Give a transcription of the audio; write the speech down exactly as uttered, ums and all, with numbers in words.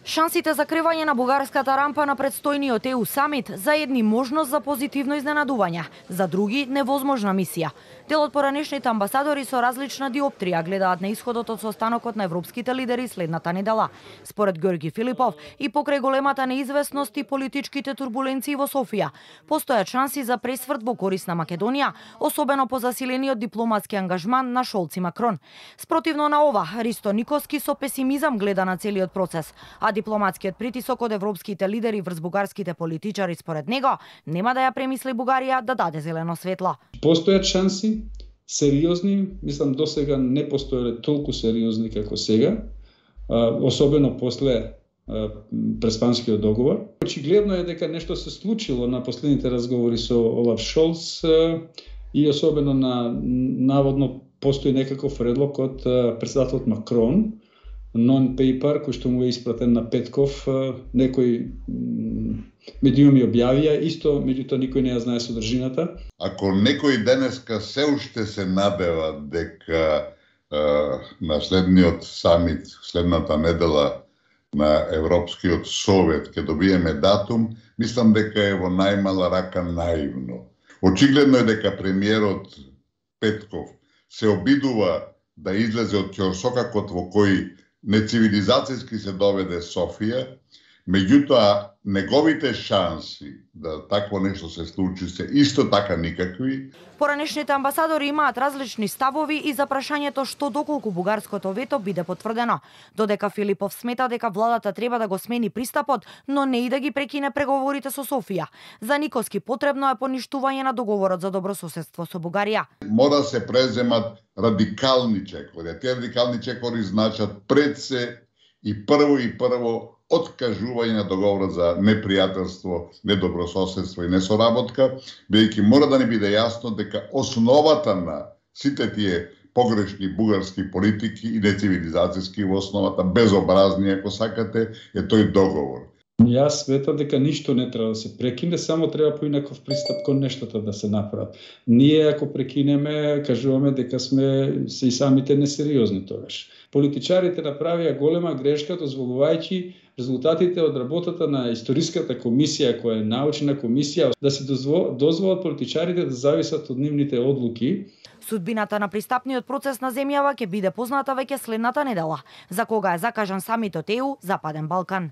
Шансите за кревање на бугарската рампа на предстојниот Е У самит за едни можност за позитивно изненадување, за други невозможна мисија. Дел од поранешните амбасадори со различна диоптрија гледаат на исходот од состанокот на европските лидери следната недела. Според Ѓорги Филипов и покрај големата неизвестност и политичките турбуленции во Софија, постојат шанси за пресврт во корист на Македонија, особено по засилениот дипломатски ангажман на Шолц и Макрон. Спротивно на ова, Ристо Никоски со песимизам гледа на целиот процес, а дипломатскиот притисок од европските лидери врз бугарските политичари според него нема да ја премисли Бугарија да даде зелено светло. Постојат шанси, сериозни, мислам досега не постоеле толку сериозни како сега, особено после преспанскиот договор. Очигледно е дека нешто се случило на последните разговори со Олаф Шолц и особено на наводно постои некаков предлог од претседателот Макрон, non-paper, кој што му е испратен на Петков, некои медиуми објавија, исто, меѓутоа никој не ја знае содржината. Ако некој денеска се уште се надева дека е, на следниот самит, следната недела на Европскиот совет ќе добиеме датум, мислам дека е во најмала рака наивно. Очигледно е дека премиерот Петков се обидува да излезе од ќорсокакот во кој нецивилизацијски се доведе Софија, меѓутоа неговите шанси да такво нешто се случи се исто така никакви. Поранешните амбасадори имаат различни ставови и за прашањето што доколку бугарското вето биде потврдено. Додека Филипов смета дека владата треба да го смени пристапот, но не и да ги прекине преговорите со Софија. За Никоски потребно е поништување на договорот за добрососедство со Бугарија. Мора се преземат радикални чекори. Тие радикални чекори значат пред се и прво и прво откажување на договорот за непријателство, недобрососедство и несоработка, бидејќи мора да не биде јасно дека основата на сите тие погрешни бугарски политики и нецивилизацијски во основата, безобразни ако сакате, е тој договор. Јас сметам дека ништо не треба да се прекине, само треба поинаков пристап кон нештата да се направат. Ние ако прекинеме, кажуваме дека сме се и самите несериозни тогаш. Политичарите направија голема грешка дозволувајќи резултатите од работата на историската комисија, која е научна комисија, да се дозволат политичарите да зависат од нивните одлуки. Судбината на пристапниот процес на земјава ќе биде позната веќе следната недела, за кога е закажан самитот Е У Западен Балкан.